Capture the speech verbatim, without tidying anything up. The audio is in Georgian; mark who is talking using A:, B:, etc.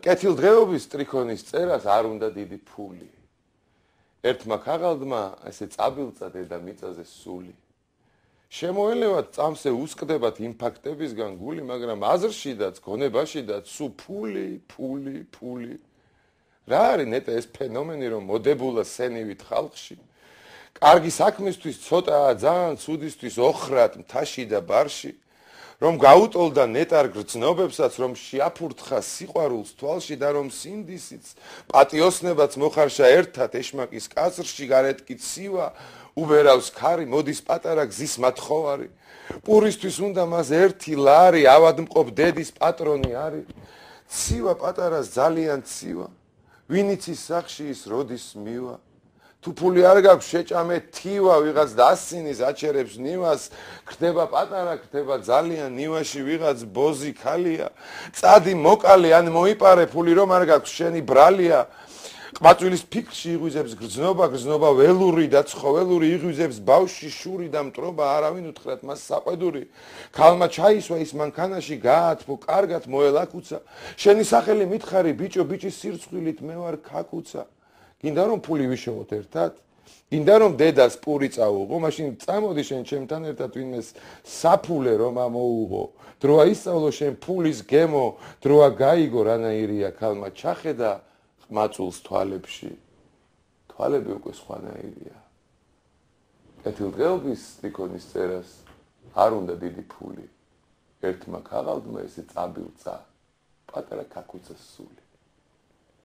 A: კეთილდღეობის ტრიქონის წერას არ უნდა დიდი ფული. ერთმა ქაღალდმა ესე წაბილწა დედა მიწაზე სული. შემოელევათ წამსე უსკდებათ იმ ფაქტებისგან გული, მაგრამ აზრშიდაც, გონებაშიდაც სულ ფული, ფული, ფული. რა არის ნეტა ეს ფენომენი, რომ მოდებულა სენივით ხალხში? კარგი საქმისთვის ცოტაა, ძალიან ცუდისთვის ოხრად მთაში და ბარში. რომ გაუტოლდა ნეტარ გრძნობებსაც, რომ შეაფურთხა სიყვარულს თვალში და რომ სინდისიც, პატიოსნებაც მოხარშა ერთად ეშმაკის კაცრში, გარეთ კი ცივა, უბერავს ქარი, მოდის პატარა გზის მათხოვარი. პურისთვის უნდა მას ერთი ლარი, ავადმყოფ დედის პატრონი არის. ცივა პატარას ძალიან ცივა, ვინიც ის სახში ის როდის მივა. თუ ფული არ გაქვს შეჭამე თივა, ვიღაც დასცინის აჩერებს ნივას, ხდება პატარა, ხდება ძალიან ნივაში ვიღაც ბოზი ქალია, წადი მოკალი ან მოიპარე ფული რომ არ გაქვს შენი ბრალია. ყმაწვილის ფიქრში იღვიძებს გრძნობა, გრძნობა ველური და ცხოველური, იღვიძებს ბავში შური და მტრობა, არავინ უთხრათ მას საყვედური. ქალმა ჩაისვა ის მანქანაში, გაათბო, კარგად მოელაკუცა. შენი სახელი მითხარი, ბიჭო, ბიჭის სირცხვილით მე ვარ ქაკუცა. გინდა რომ ფული ვიშოვოთ ერთად? გინდა რომ დედას პური წაუღო, მაშინ წამოდი შენ ჩემთან ერთად ვინმეს საფულე რომ ამოუღო. დროა ისწავლო შენ ფულის გემო, დროა გაიგო რანაირია ქალმა ჩახედა ყმაწვილს თვალებში. თვალები უკვე სხვანაირია. კეთილდღეობის ტრიქონის წერას არ უნდა დიდი ფული. ერთმა ქაღალდმა ესე წაბილწა, პატარა ქაკუცას სული.